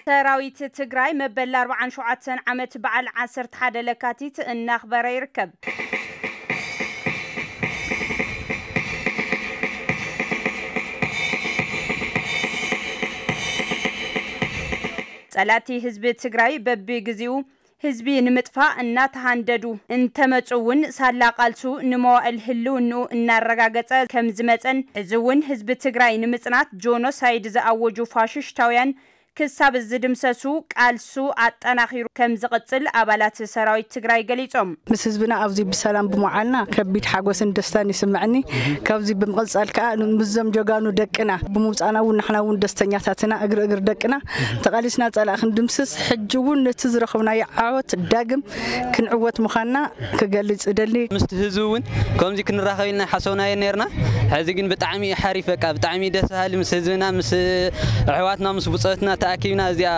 ሰራዊት ትግራይ መበል ኣርባዓን ሸውዓተን ዓመት በዓል ዓሰርተ ሓደ ለካቲት እናኽበረ ይርከብ። ጸላእቲ ህዝቢ ትግራይ በብግዜኡ ህዝቢ ንምጥፋእ እናተሃንደዱ እንተመፁ እውን ሳላ ቃልሱ ንመዋእል ህልውንኡ እናረጋገፀ ከም ዝመፀን ሕዚ እውን ህዝቢ ትግራይ ንምፅናት ጆኖሳይድ ዝኣወጁ ፋሽሽታውያን ክሳብ ዝድምሰሱ ቃልሱ ኣጠናኺሩ ከም ዝቕፅል ኣባላት ሰራዊት ትግራይ ገሊፆም። ምስ ህዝብና ኣብዚ ብሰላም ብምዓልና ከቢድ ሓጎስን ደስታን ይስምዐኒ። ካብዚ ብምቕፃል ከዓ ምስዞም ጀጋኑ ደቅና ብምውፃእና እውን ንሕና እውን ደስተኛታትና እግሪ እግሪ ደቅና ተቓሊስና ፀላእ ክንድምስስ ሕጂ እውን ነቲ ዝረኸብናዮ ዓወት ዳግም ክንዕወት ምዃንና ክገልፅ እደሊ። ምስቲ ህዝቢ እውን ከምዚ ክንራኸብ ኢልና ሓሰብናዮ ነርና። ሕዚ ግን ብጣዕሚ እዩ ሓሪፍ፣ በቃ ብጣዕሚ ደስ በሃሊ ምስ ህዝብና ምስ ኣሕዋትና ምስ ብፆትና ተኣኪብና እዚኣ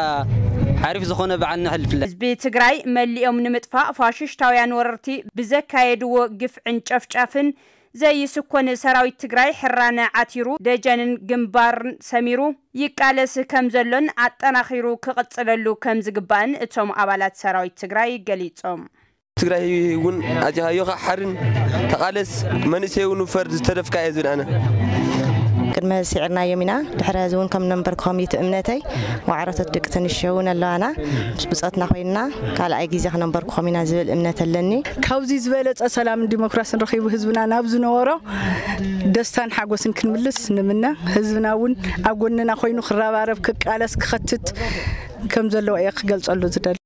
ሓሪፍ ዝኾነ በዓል ነሕልፍለን። ህዝቢ ትግራይ መሊኦም ንምጥፋእ ፋሽሽታውያን ወረርቲ ብዘካየድዎ ግፍዕን ጨፍጫፍን ዘይስኮን ሰራዊት ትግራይ ሕራነ ዓቲሩ ደጀንን ግንባርን ሰሚሩ ይቃለስ ከም ዘሎን ኣጠናኺሩ ክቕፅለሉ ከም ዝግባእን እቶም ኣባላት ሰራዊት ትግራይ ገሊፆም። ትግራይ እውን ኣቲኻዮ ከዓ ሓርን ተቓለስ መንእሰይ እውን ፈርድ ዝተደፍካ እየ ዝብል ኣነ። ቅድመ ስዒርናዮም ኢና። ድሕሪ ሕዚ እውን ከም ነንበርክኾም እዩ እቲ እምነተይ። ዋዕሮቶት ደቂ ተንሽዮ እውን ኣለዋና። ምስ ብፆትና ኮይንና ካልኣይ ግዜ ክነንበርክኾም ኢና ዝብል እምነት ኣለኒ። ካብዚ ዝበለፀ ሰላምን ዲሞክራስን ረኺቡ ህዝብና ናብ ዝነበሮ ደስታን ሓጎስን ክንምልስ ንምነ። ህዝብና እውን ኣብ ጎንና ኮይኑ ክረባረብ፣ ክቃለስ፣ ክኸትት ከም ዘለዎ እየ ክገልፀሉ ዝደሊ።